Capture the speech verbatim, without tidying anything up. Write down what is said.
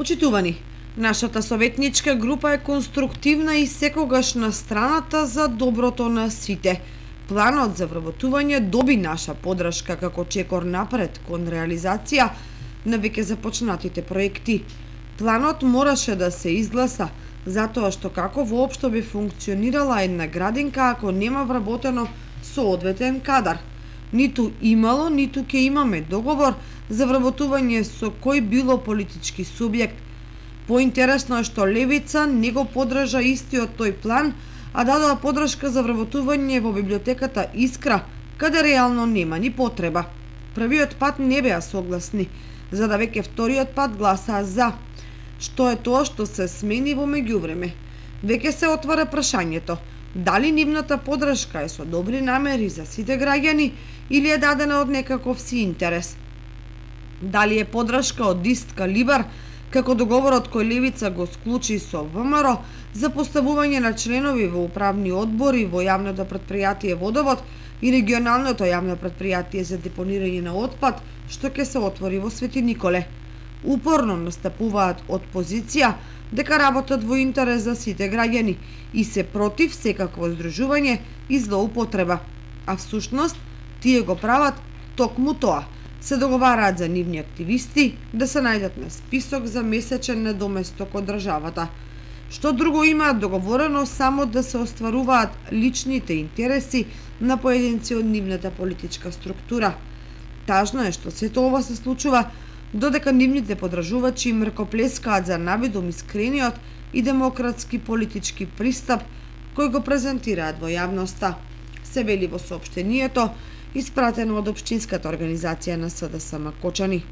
Почитувани, нашата советничка група е конструктивна и секогаш на страната за доброто на сите. Планот за вработување доби наша подршка како чекор напред кон реализација на веќе започнатите проекти. Планот мораше да се изгласа, затоа што како воопшто би функционирала една градинка ако нема вработено соодветен кадар. Ниту имало, ниту ќе имаме договор за вработување со кој било политички субјект. Поинтересно е што Левица не го поддржа истиот тој план, а дадоа поддршка за вработување во библиотеката Искра, каде реално нема ни потреба. Првиот пат не беа согласни, за да веќе вториот пат гласаа за. Што е тоа што се смени во меѓувреме? Веќе се отвара прашањето, дали нивната поддршка е со добри намери за сите граѓани или е дадена од некаков си интерес? Дали е поддршка од ист калибар, како договорот кој Левица го склучи со ВМРО за поставување на членови во управни одбори во јавното претпријатие Водовод и регионалното јавно претпријатие за депонирање на отпад, што ќе се отвори во Свети Николе. Упорно настапуваат од позиција дека работат во интерес за сите граѓани и се против секакво здружување и злоупотреба, а всушност тие го прават токму тоа. Се договараат за нивни активисти да се најдат на список за месечен недоместок од државата. Што друго имаат договорено само да се остваруваат личните интереси на поединци од нивната политичка структура. Тажно е што сето ова се случува додека нивните подржувачи мркоплескаат за навидом искрениот и демократски политички пристап кој го презентираат во јавноста, се вели во соопштението испратено од општинската организација на СДСМ Кочани.